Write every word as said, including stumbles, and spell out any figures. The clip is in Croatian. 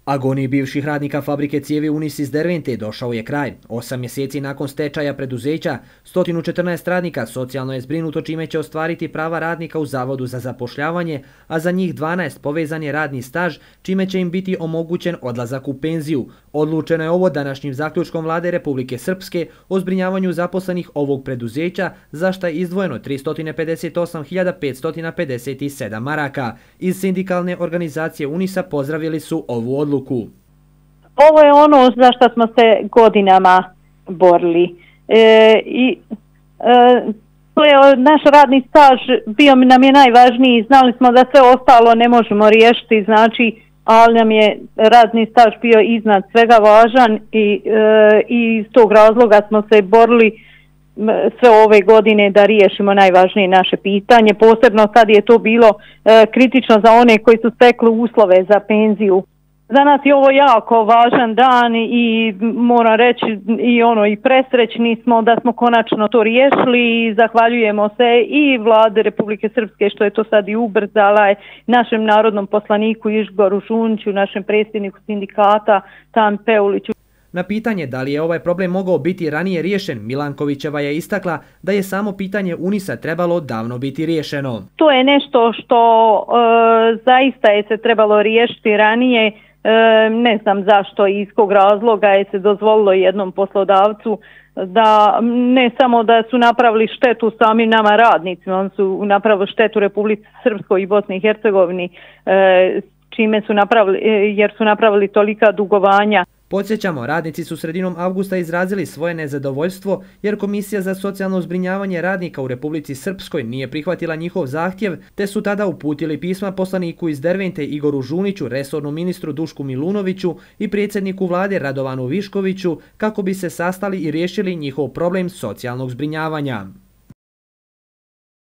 Agoniji bivših radnika fabrike cijevi Unis iz Dervente došao je kraj. Osam mjeseci nakon stečaja preduzeća, sto četrnaest radnika socijalno je zbrinuto čime će ostvariti prava radnika u Zavodu za zapošljavanje, a za njih dvanaest povezan je radni staž, čime će im biti omogućen odlazak u penziju. Odlučeno je ovo današnjim zaključkom Vlade Republike Srpske o zbrinjavanju zaposlenih ovog preduzeća, za što je izdvojeno tristo pedeset osam hiljada petsto pedeset sedam maraka. Iz sindikalne organizacije Unisa pozdravili su ovu odluku. Ovo je ono za što smo se godinama borili. E, i, e, to je naš radni staž, bio nam je najvažniji, znali smo da sve ostalo ne možemo riješiti, znači, ali nam je radni staž bio iznad svega važan i, e, i iz tog razloga smo se borili sve ove godine da riješimo najvažnije naše pitanje. Posebno sad je to bilo e, kritično za one koji su stekli uslove za penziju. Za nas je ovo jako važan dan i moram reći i ono i presrećni smo da smo konačno to riješili i zahvaljujemo se i Vlade Republike Srpske što je to sad i ubrzala, našem narodnom poslaniku Igoru Žuniću, našem predsjedniku sindikata Tami Peuliću. Na pitanje da li je ovaj problem mogao biti ranije riješen, Milankovićeva je istakla da je samo pitanje Unisa trebalo davno biti riješeno. To je nešto što e, zaista je se trebalo riješiti ranije. E, ne znam zašto i iz kog razloga je se dozvolilo jednom poslodavcu da ne samo da su napravili štetu samim nama radnicima, oni su napravili štetu Republici Srpskoj i Bosni i Hercegovini, e, čime su napravili, jer su napravili tolika dugovanja. Podsjećamo, radnici su sredinom avgusta izrazili svoje nezadovoljstvo jer Komisija za socijalno zbrinjavanje radnika u Republici Srpskoj nije prihvatila njihov zahtjev, te su tada uputili pisma poslaniku iz Dervente Igoru Žuniću, resornom ministru Dušku Milunoviću i predsjedniku vlade Radovanu Viškoviću kako bi se sastali i riješili njihov problem socijalnog zbrinjavanja.